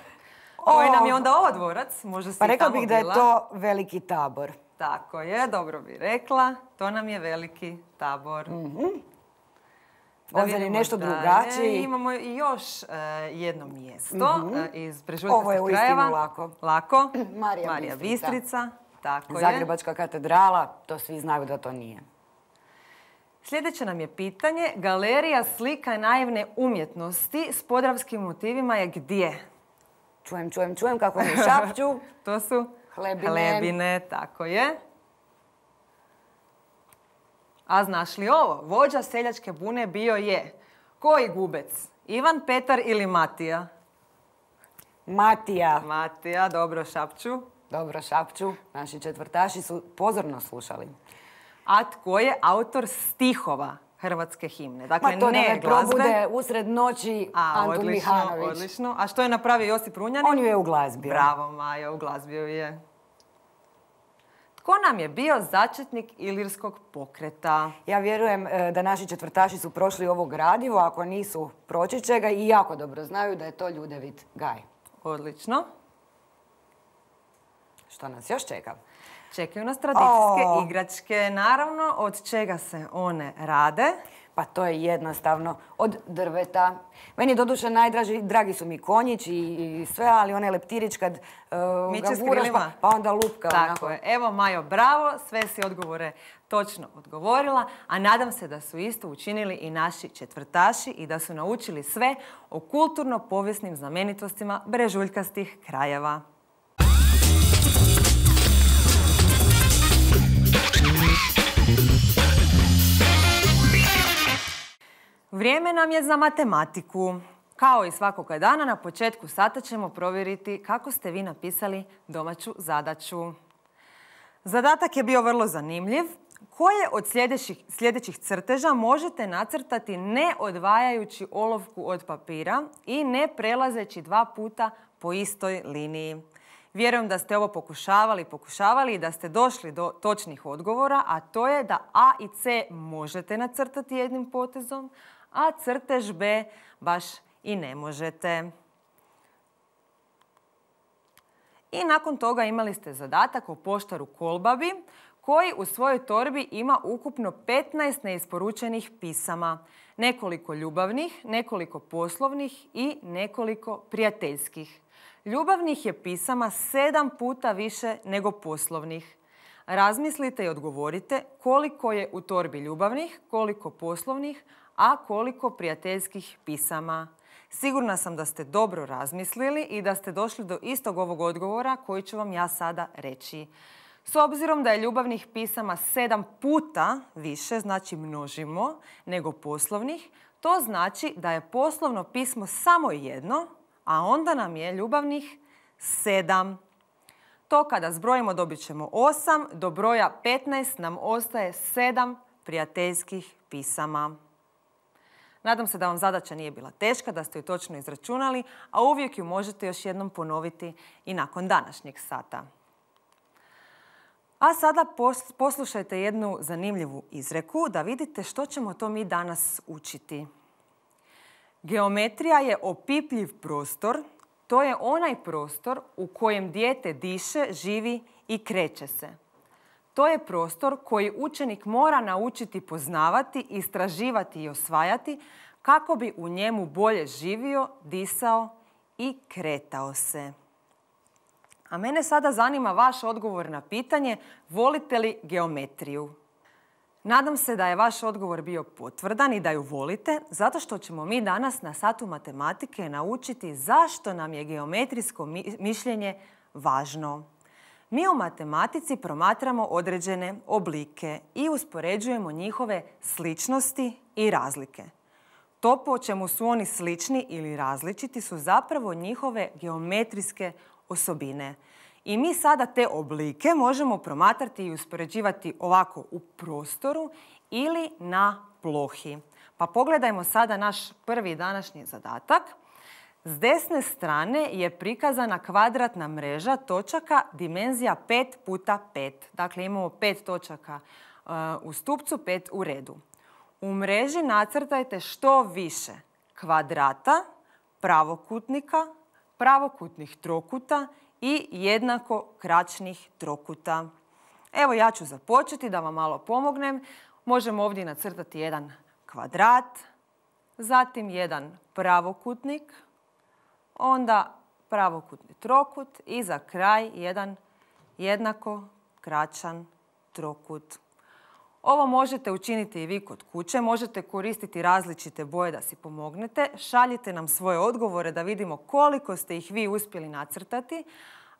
Koji nam je onda ovo dvorac? Možda si pa rekla tamo bih da je to Veliki Tabor. Tako je, dobro bi rekla. To nam je Veliki Tabor. Mm-hmm. Ovdje nešto drugačije. Imamo i još uh, jedno mjesto mm-hmm. uh, iz brežuljkastih krajeva. Ovo je uistinu lako. Lako. Marija, Marija Bistrica. Tako Zagrebačka je. katedrala, to svi znaju da to nije. Sljedeće nam je pitanje. Galerija slika naivne umjetnosti s podravskim motivima je gdje? Čujem, čujem, čujem kako mi šapću. To su Hlebine. Hlebine, tako je. A znaš li ovo? Vođa seljačke bune bio je koji gubec? Ivan, Petar ili Matija? Matija. Matija, dobro šapću. Dobro šapću. Naši četvrtaši su pozorno slušali. A tko je autor stihova hrvatske himne? Dakle, Ma to ne da me glazbe. probude usred noći A, Antun odlično, Mihanović. odlično. A što je napravio Josip Runjanin? On ju je uglazbio. Bravo, Maja, uglazbio je. Tko nam je bio začetnik ilirskog pokreta? Ja vjerujem e, da naši četvrtaši su prošli ovo gradivo, ako nisu proći će ga i jako dobro znaju da je to Ljudevit Gaj. Odlično. Što nas još čeka? Čekaju nas tradicijske O. igračke. Naravno, od čega se one rade? Pa to je jednostavno od drveta. Meni doduše najdraži, dragi su mi konjić i, i sve, ali onaj leptirić kad uh, Miče ga s guraš krilima. pa, pa onda lupka. Tako onako. je. Evo, Majo, bravo. Sve si odgovore točno odgovorila, a nadam se da su isto učinili i naši četvrtaši i da su naučili sve o kulturno-povijesnim znamenitostima brežuljkastih krajeva. Vrijeme nam je za matematiku. Kao i svakoga dana, na početku sata ćemo provjeriti kako ste vi napisali domaću zadaću. Zadatak je bio vrlo zanimljiv. Koje od sljedećih, sljedećih crteža možete nacrtati ne odvajajući olovku od papira i ne prelazeći dva puta po istoj liniji? Vjerujem da ste ovo pokušavali, pokušavali i da ste došli do točnih odgovora, a to je da A i C možete nacrtati jednim potezom, a crtež B baš i ne možete. I nakon toga imali ste zadatak o poštaru Kolbabi, koji u svojoj torbi ima ukupno petnaest neisporučenih pisama. Nekoliko ljubavnih, nekoliko poslovnih i nekoliko prijateljskih. Ljubavnih je pisama sedam puta više nego poslovnih. Razmislite i odgovorite koliko je u torbi ljubavnih, koliko poslovnih, a koliko prijateljskih pisama. Sigurna sam da ste dobro razmislili i da ste došli do istog ovog odgovora koji ću vam ja sada reći. S obzirom da je ljubavnih pisama sedam puta više, znači množimo, nego poslovnih, to znači da je poslovno pismo samo jedno, a onda nam je ljubavnih sedam. To kada zbrojimo dobit ćemo osam, do broja petnaest nam ostaje sedam prijateljskih pisama. Nadam se da vam zadaća nije bila teška, da ste ju točno izračunali, a uvijek ju možete još jednom ponoviti i nakon današnjeg sata. A sada poslušajte jednu zanimljivu izreku da vidite što ćemo to mi danas učiti. Geometrija je opipljiv prostor, to je onaj prostor u kojem dijete diše, živi i kreće se. To je prostor koji učenik mora naučiti poznavati, istraživati i osvajati kako bi u njemu bolje živio, disao i kretao se. A mene sada zanima vaš odgovor na pitanje volite li geometriju? Nadam se da je vaš odgovor bio potvrdan i da ju volite, zato što ćemo mi danas na satu matematike naučiti zašto nam je geometrijsko mišljenje važno. Mi u matematici promatramo određene oblike i uspoređujemo njihove sličnosti i razlike. To po čemu su oni slični ili različiti su zapravo njihove geometrijske osobine. I mi sada te oblike možemo promatrati i uspoređivati ovako u prostoru ili na plohi. Pa pogledajmo sada naš prvi današnji zadatak. S desne strane je prikazana kvadratna mreža točaka dimenzija pet puta pet. Dakle, imamo pet točaka uh, u stupcu, pet u redu. U mreži nacrtajte što više kvadrata, pravokutnika, pravokutnih trokuta i jednako kraćnih trokuta. Evo ja ću započeti da vam malo pomognem. Možemo ovdje nacrtati jedan kvadrat, zatim jedan pravokutnik, onda pravokutni trokut i za kraj jedan jednako kraćan trokut. Ovo možete učiniti i vi kod kuće, možete koristiti različite boje da si pomognete. Šaljite nam svoje odgovore da vidimo koliko ste ih vi uspjeli nacrtati.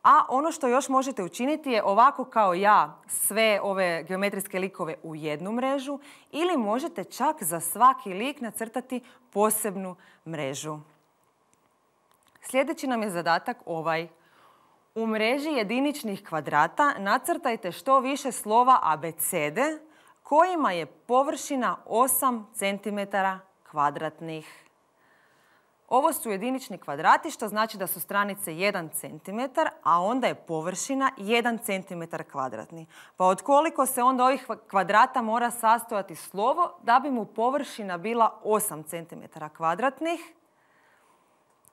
A ono što još možete učiniti je ovako kao ja sve ove geometrijske likove u jednu mrežu ili možete čak za svaki lik nacrtati posebnu mrežu. Sljedeći nam je zadatak ovaj. U mreži jediničnih kvadrata nacrtajte što više slova abecede kojima je površina osam centimetara kvadratnih. Ovo su jedinični kvadrati, što znači da su stranice jedan centimetar, a onda je površina jedan centimetar kvadratni. Pa od koliko se onda ovih kvadrata mora sastojati slovo da bi mu površina bila osam centimetara kvadratnih?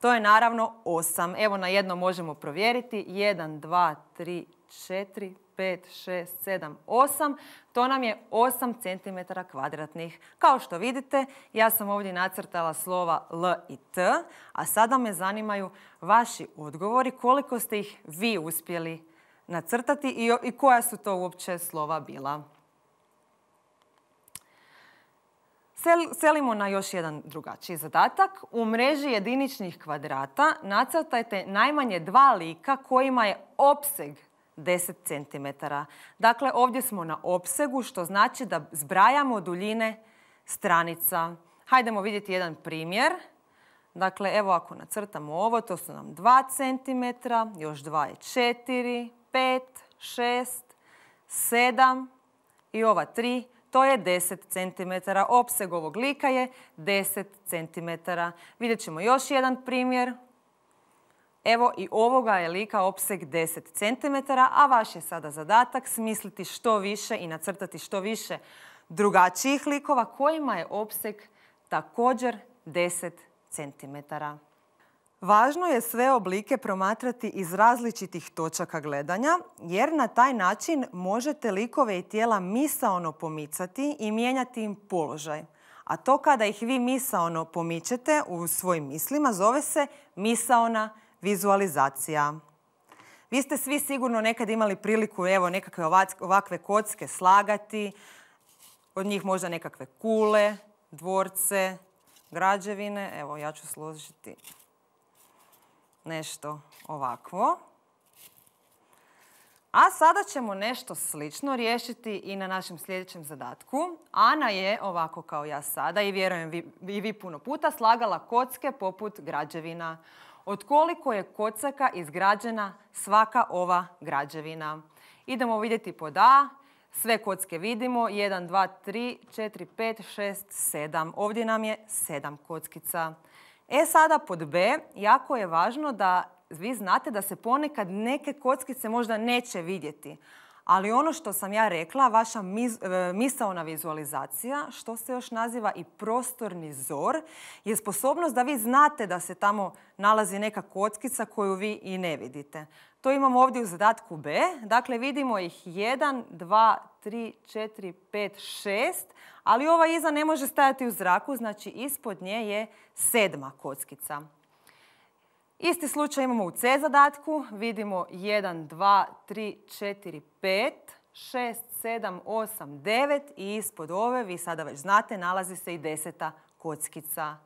To je naravno osam. Evo na jedno možemo provjeriti. jedan, dva, tri, četiri, pet, šest, sedam, osam. To nam je osam centimetara kvadratnih. Kao što vidite, ja sam ovdje nacrtala slova L i T, a sada me zanimaju vaši odgovori, koliko ste ih vi uspjeli nacrtati i, i koja su to uopće slova bila. Selimo na još jedan drugačiji zadatak. U mreži jediničnih kvadrata nacrtajte najmanje dva lika kojima je opseg deset centimetara. Dakle, ovdje smo na opsegu, što znači da zbrajamo duljine stranica. Hajdemo vidjeti jedan primjer. Dakle, evo ako nacrtamo ovo, to su nam dva centimetra, još dva je četiri, pet, šest, sedam i ova tri. To je deset centimetara. Opseg ovog lika je deset centimetara. Vidjet ćemo još jedan primjer. Evo i ovoga je lika opseg deset centimetara, a vaš je sada zadatak smisliti što više i nacrtati što više drugačijih likova kojima je opseg također deset centimetara. Važno je sve oblike promatrati iz različitih točaka gledanja, jer na taj način možete likove i tijela misaono pomicati i mijenjati im položaj. A to kada ih vi misaono pomičete u svojim mislima zove se misaona vizualizacija. Vi ste svi sigurno nekad imali priliku evo nekakve ovakve kocke slagati, od njih možda nekakve kule, dvorce, građevine. Evo ja ću složiti nešto ovakvo. A sada ćemo nešto slično riješiti i na našem sljedećem zadatku. Ana je, ovako kao ja sada, i vjerujem vi, i vi puno puta, slagala kocke poput građevina. Od koliko je kocaka izgrađena svaka ova građevina? Idemo vidjeti pod A. Sve kocke vidimo. jedan, dva, tri, četiri, pet, šest, sedam. Ovdje nam je sedam kockica. E sada pod B, jako je važno da vi znate da se ponekad neke kockice možda neće vidjeti. Ali ono što sam ja rekla, vaša mis, e, misaona vizualizacija, što se još naziva i prostorni zor, je sposobnost da vi znate da se tamo nalazi neka kockica koju vi i ne vidite. To imamo ovdje u zadatku B. Dakle, vidimo ih jedan, dva, tri, četiri, pet, šest, ali ova iza ne može stajati u zraku, znači ispod nje je sedma kockica. Isti slučaj imamo u C zadatku. Vidimo jedan, dva, tri, četiri, pet, šest, sedam, osam, devet i ispod ove, vi sada već znate, nalazi se i deseta kockica.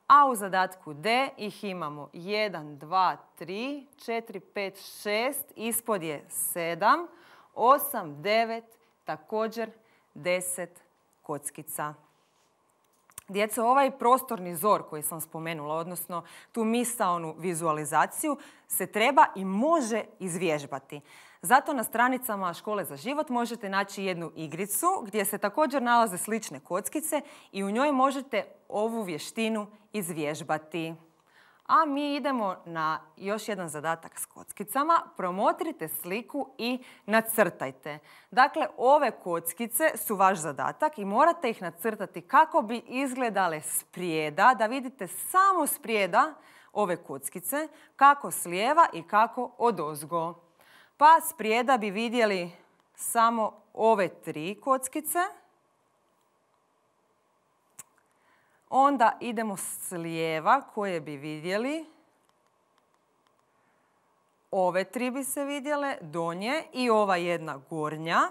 A u zadatku D ih imamo jedan, dva, tri, četiri, pet, šest, ispod je sedam, osam, devet, također deset kockica. Djeco, ovaj prostorni zor koji sam spomenula, odnosno tu misaonu vizualizaciju, se treba i može izvježbati. Zato na stranicama Škole za život možete naći jednu igricu gdje se također nalaze slične kockice i u njoj možete ovu vještinu izvježbati. A mi idemo na još jedan zadatak s kockicama. Promotrite sliku i nacrtajte. Dakle, ove kockice su vaš zadatak i morate ih nacrtati kako bi izgledale sprijeda, da vidite samo sprijeda ove kockice, kako s lijeva i kako odozgo. Pa sprijeda bi vidjeli samo ove tri kockice. Onda idemo s lijeva koje bi vidjeli. Ove tri bi se vidjele, donje i ova jedna gornja.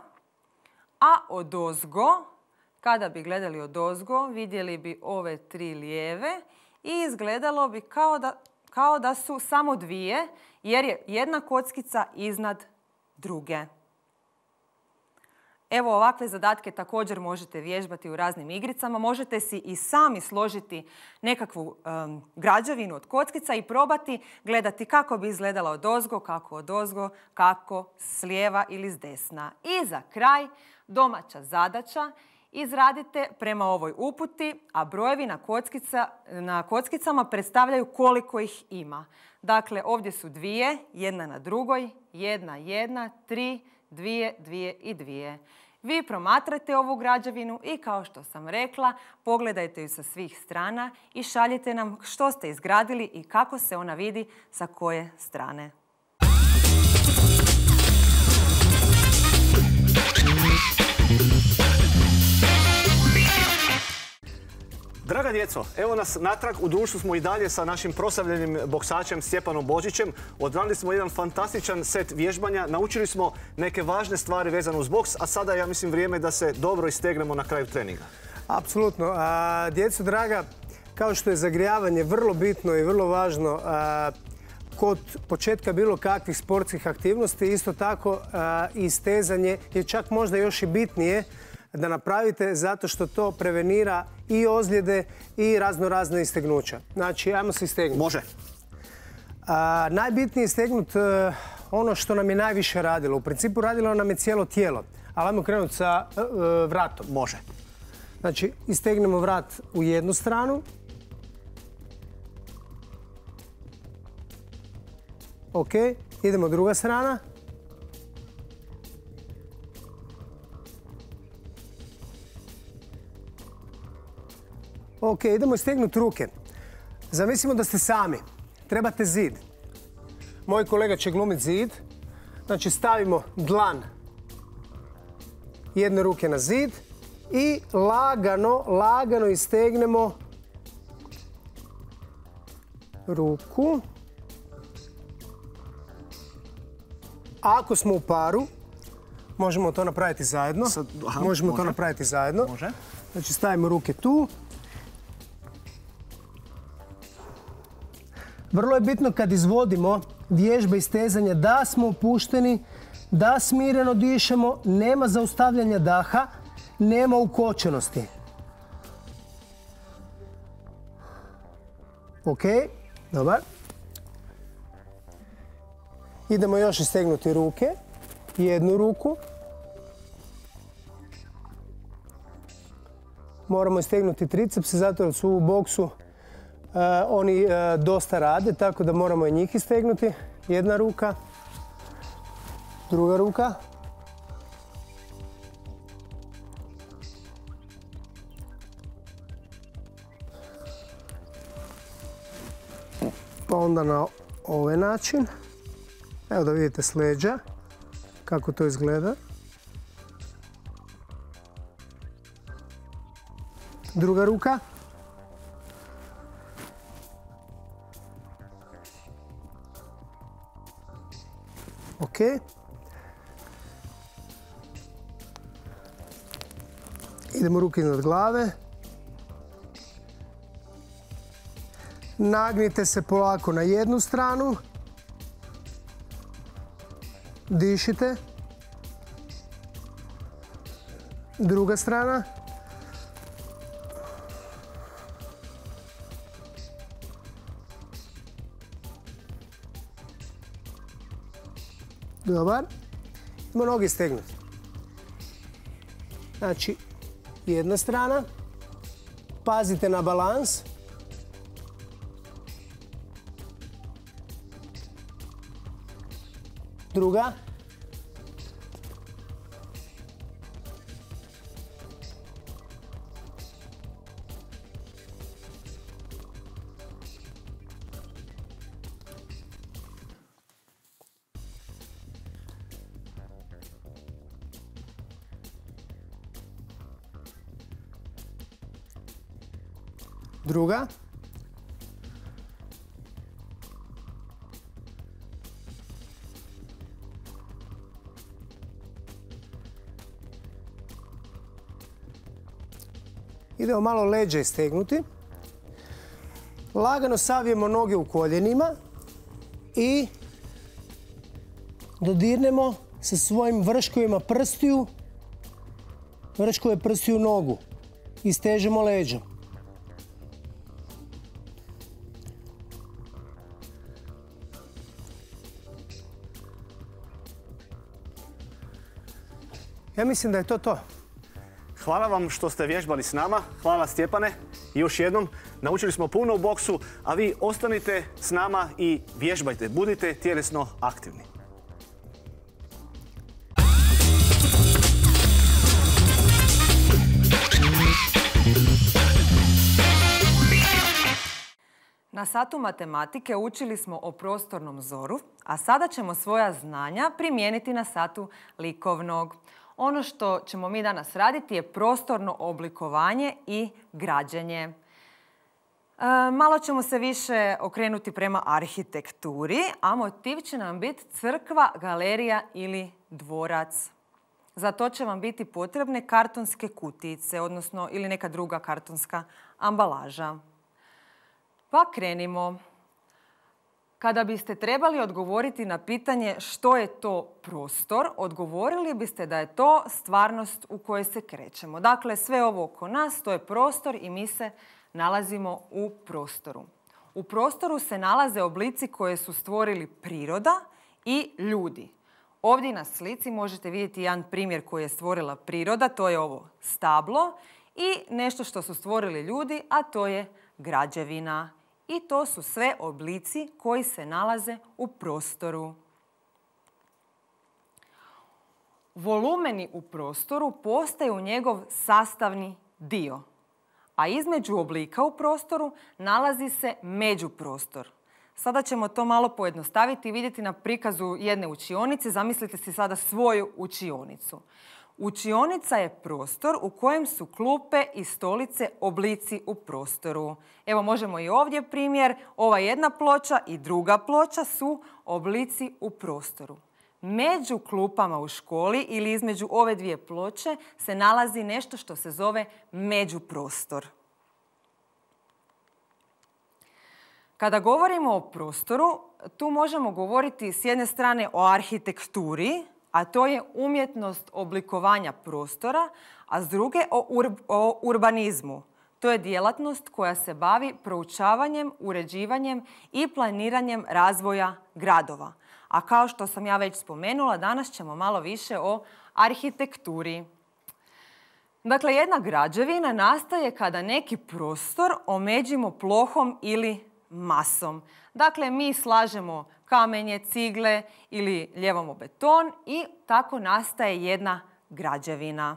A odozgo, kada bi gledali odozgo, vidjeli bi ove tri lijeve i izgledalo bi kao da, kao da su samo dvije, jer je jedna kockica iznad druge. Evo, ovakve zadatke također možete vježbati u raznim igricama. Možete si i sami složiti nekakvu um, građevinu od kockica i probati gledati kako bi izgledala odozgo, kako odozgo, kako s lijeva ili s desna. I za kraj, domaća zadaća. Izradite prema ovoj uputi, a brojevi na, kockica, na kockicama predstavljaju koliko ih ima. Dakle, ovdje su dvije, jedna na drugoj, jedna, jedna, tri, dvije, dvije i dvije. Vi promatrajte ovu građevinu i, kao što sam rekla, pogledajte ju sa svih strana i šaljite nam što ste izgradili i kako se ona vidi sa koje strane. Draga djeco, evo nas natrag, u društvu smo i dalje sa našim proslavljenim boksačem Stjepanom Božićem. Odradili smo jedan fantastičan set vježbanja, naučili smo neke važne stvari vezane uz boks, a sada ja mislim vrijeme da se dobro istegnemo na kraju treninga. Apsolutno. A, djeco draga, kao što je zagrijavanje vrlo bitno i vrlo važno a, kod početka bilo kakvih sportskih aktivnosti, isto tako a, i stezanje je čak možda još i bitnije da napravite, zato što to prevenira i ozljede i razno razne istegnuća. Znači, ajmo se istegnuti. Može. A, najbitnije je istegnuti uh, ono što nam je najviše radilo. U principu radilo nam je cijelo tijelo. Ali ajmo krenuti sa uh, vratom. Može. Znači, istegnemo vrat u jednu stranu. Ok, idemo druga strana. Ok, idemo istegnuti ruke. Zamislimo da ste sami. Trebate zid. Moj kolega će glumiti zid. Znači, stavimo dlan jedne ruke na zid i lagano, lagano istegnemo ruku. Ako smo u paru, možemo to napraviti zajedno. Sad, aha, možemo može. to napraviti zajedno. Može. Znači, stavimo ruke tu. Vrlo je bitno kad izvodimo vježbe i stezanja da smo opušteni, da smireno dišemo, nema zaustavljanja daha, nema ukočenosti. Ok, dobar. Idemo još istegnuti ruke, jednu ruku. Moramo istegnuti tricepse, zato jer su u boksu uh, oni uh, dosta rade, tako da moramo i njih istegnuti. Jedna ruka, druga ruka. Pa onda na ovaj način. Evo da vidite s leđa kako to izgleda. Druga ruka. Ok. Idemo ruke iznad glave. Nagnite se polako na jednu stranu. Dišite. Druga strana. Dobar. Idemo noge stegnuti. Znači, jedna strana. Pazite na balans. Druga. Druga. Idemo malo leđa istegnuti. Lagano savijemo noge u koljenima i dodirnemo sa svojim vrškovima prstiju, vrškove prstiju nogu i stežemo leđa. Ja mislim da je to to. Hvala vam što ste vježbali s nama. Hvala Stjepane. I još jednom, naučili smo puno u boksu, a vi ostanite s nama i vježbajte. Budite tjelesno aktivni. Na satu matematike učili smo o prostornom zoru, a sada ćemo svoja znanja primijeniti na satu likovnog. Ono što ćemo mi danas raditi je prostorno oblikovanje i građenje. E, malo ćemo se više okrenuti prema arhitekturi, a motiv će nam biti crkva, galerija ili dvorac. Za to će vam biti potrebne kartonske kutijice, odnosno ili neka druga kartonska ambalaža. Pa krenimo. Kada biste trebali odgovoriti na pitanje što je to prostor, odgovorili biste da je to stvarnost u kojoj se krećemo. Dakle, sve ovo oko nas, to je prostor i mi se nalazimo u prostoru. U prostoru se nalaze oblici koje su stvorili priroda i ljudi. Ovdje na slici možete vidjeti jedan primjer koji je stvorila priroda, to je ovo stablo, i nešto što su stvorili ljudi, a to je građevina. I to su sve oblici koji se nalaze u prostoru. Volumeni u prostoru postaju njegov sastavni dio, a između oblika u prostoru nalazi se međuprostor. Sada ćemo to malo pojednostaviti i vidjeti na prikazu jedne učionice. Zamislite si sada svoju učionicu. Učionica je prostor u kojem su klupe i stolice oblici u prostoru. Evo možemo i ovdje primjer. Ova jedna ploča i druga ploča su oblici u prostoru. Među klupama u školi ili između ove dvije ploče se nalazi nešto što se zove međuprostor. Kada govorimo o prostoru, tu možemo govoriti s jedne strane o arhitekturi, a to je umjetnost oblikovanja prostora, a s druge o, ur, o urbanizmu. To je djelatnost koja se bavi proučavanjem, uređivanjem i planiranjem razvoja gradova. A kao što sam ja već spomenula, danas ćemo malo više o arhitekturi. Dakle, jedna građevina nastaje kada neki prostor omeđimo plohom ili masom. Dakle, mi slažemo kamenje, cigle ili ljevamo beton i tako nastaje jedna građevina.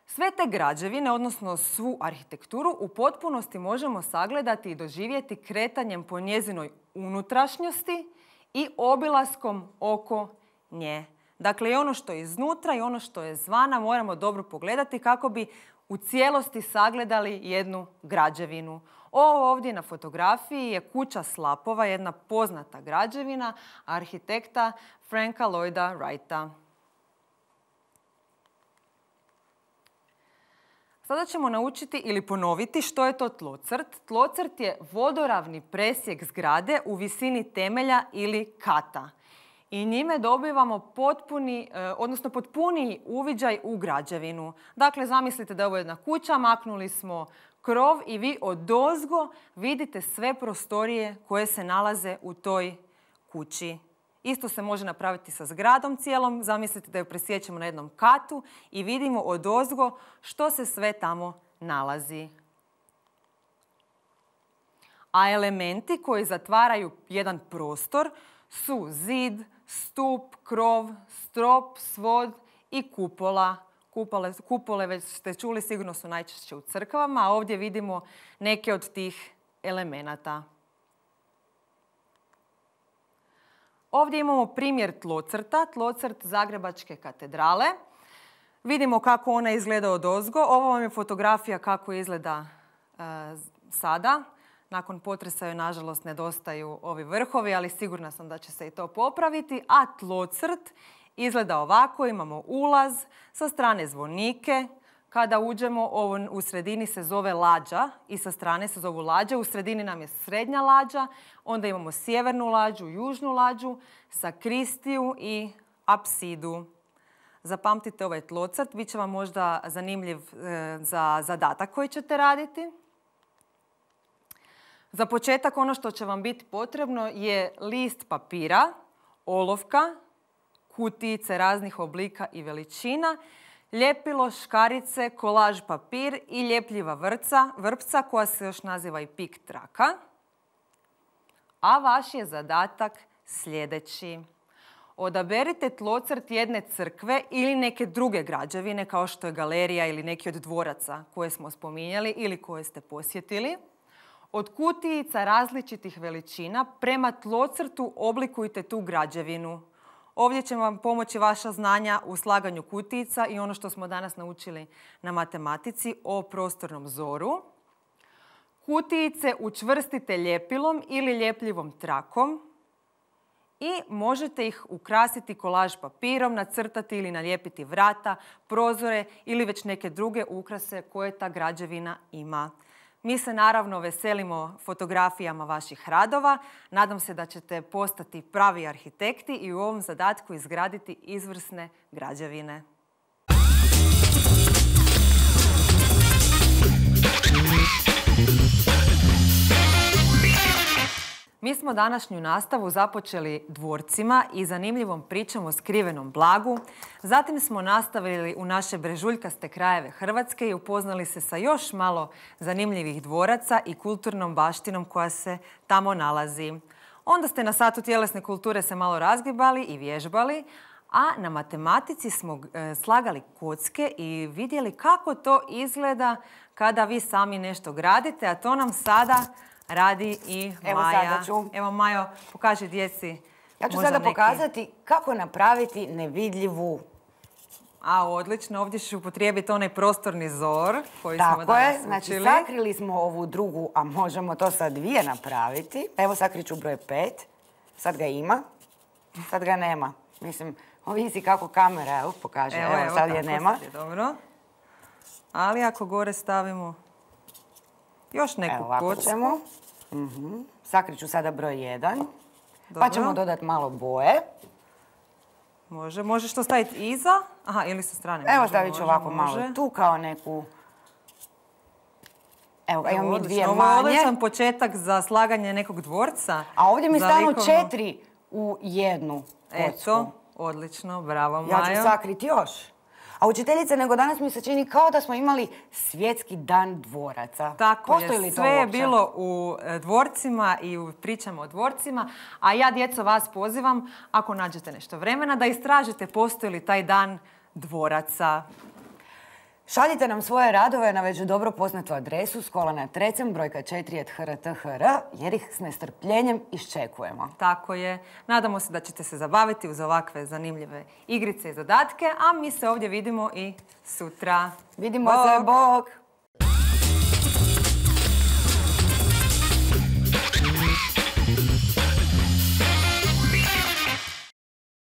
Sve te građevine, odnosno svu arhitekturu, u potpunosti možemo sagledati i doživjeti kretanjem po njezinoj unutrašnjosti i obilaskom oko nje. Dakle, i ono što je iznutra i ono što je zvana moramo dobro pogledati kako bi u cijelosti sagledali jednu građevinu. Ovo ovdje na fotografiji je kuća slapova, jedna poznata građevina arhitekta Franka Lloyda Wrighta. Sada ćemo naučiti ili ponoviti što je to tlocrt. Tlocrt je vodoravni presjek zgrade u visini temelja ili kata. I njime dobivamo potpuni, odnosno potpuniji uviđaj u građevinu. Dakle, zamislite da je ovo jedna kuća, maknuli smo krov i vi odozgo vidite sve prostorije koje se nalaze u toj kući. Isto se može napraviti sa zgradom cijelom. Zamislite da ju presjećemo na jednom katu i vidimo odozgo što se sve tamo nalazi. A elementi koji zatvaraju jedan prostor su zid, stup, krov, strop, svod i kupola. Kupole, kupole već ste čuli, sigurno su najčešće u crkvama, a ovdje vidimo neke od tih elemenata. Ovdje imamo primjer tlocrta, tlocrt Zagrebačke katedrale. Vidimo kako ona izgleda odozgo. Ovo vam je fotografija kako izgleda e, sada. Nakon potresa joj, nažalost, nedostaju ovi vrhovi, ali sigurna sam da će se i to popraviti. A tlocrt Izgleda ovako, imamo ulaz, sa strane zvonike. Kada uđemo, ovo u sredini se zove lađa i sa strane se zovu lađe. U sredini nam je srednja lađa, onda imamo sjevernu lađu, južnu lađu, sakristiju i apsidu. Zapamtite ovaj tlocrt, bit će vam možda zanimljiv e, za zadatak koji ćete raditi. Za početak ono što će vam biti potrebno je list papira, olovka, kutijice raznih oblika i veličina, ljepilo, škarice, kolaž papir i ljepljiva vrpca, vrpca koja se još naziva i pik traka. A vaš je zadatak sljedeći. Odaberite tlocrt jedne crkve ili neke druge građevine kao što je galerija ili neki od dvoraca koje smo spominjali ili koje ste posjetili. Od kutijica različitih veličina prema tlocrtu oblikujte tu građevinu. Ovdje će vam pomoći vaša znanja u slaganju kutijica i ono što smo danas naučili na matematici o prostornom zoru. Kutijice učvrstite ljepilom ili ljepljivom trakom i možete ih ukrasiti kolaž papirom, nacrtati ili nalijepiti vrata, prozore ili već neke druge ukrase koje ta građevina ima. Mi se naravno veselimo fotografijama vaših radova. Nadam se da ćete postati pravi arhitekti i u ovom zadatku izgraditi izvrsne građevine. Mi smo današnju nastavu započeli dvorcima i zanimljivom pričom o skrivenom blagu. Zatim smo nastavili u naše brežuljkaste krajeve Hrvatske i upoznali se sa još malo zanimljivih dvoraca i kulturnom baštinom koja se tamo nalazi. Onda ste na satu tjelesne kulture se malo razgibali i vježbali, a na matematici smo slagali kocke i vidjeli kako to izgleda kada vi sami nešto gradite, a to nam sada radi i Evo Maja. sada ću. Evo Majo, pokaži djeci. Ja ću možda sada neki- pokazati kako napraviti nevidljivu. A, odlično. Ovdje ću upotrijebiti onaj prostorni zor koji smo Tako danas je, znači učili. sakrili smo ovu drugu, a možemo to sa dvije napraviti. Evo sakriću broj pet. Sad ga ima, sad ga nema. Mislim, ovisi kako kamera, evo, pokaže. Evo, sad je tako, nema. sad je dobro. Ali ako gore stavimo još neku Evo, ovako kocku. ćemo. Mhm. Sakriću sada broj jedan. Pa Dobro. ćemo dodati malo boje. Može, možeš to staviti iza. Aha, ili sa strane. Evo Može, stavit ću može, ovako može. malo tu kao neku. Evo, Evo, imamo mi odlično. dvije Ovo je manje. odličan početak za slaganje nekog dvorca. A ovdje mi Za stanu likovno- četiri u jednu kocku. Eto, odlično, bravo Ja Majo. ću sakriti još. A učiteljice, nego danas mi se čini kao da smo imali svjetski dan dvoraca. Tako Postoji je, li to sve je uopće? bilo u e, dvorcima i u pričama o dvorcima, a ja, djeco, vas pozivam, ako nađete nešto vremena, da istražite postoji li taj dan dvoraca. Šaljite nam svoje radove na već dobro poznatu adresu Škola na Trecem, brojka četiri et ha er te ha er, jer ih s nestrpljenjem iščekujemo. Tako je. Nadamo se da ćete se zabaviti uz ovakve zanimljive igrice i zadatke, a mi se ovdje vidimo i sutra. Vidimo Bog! se, bog!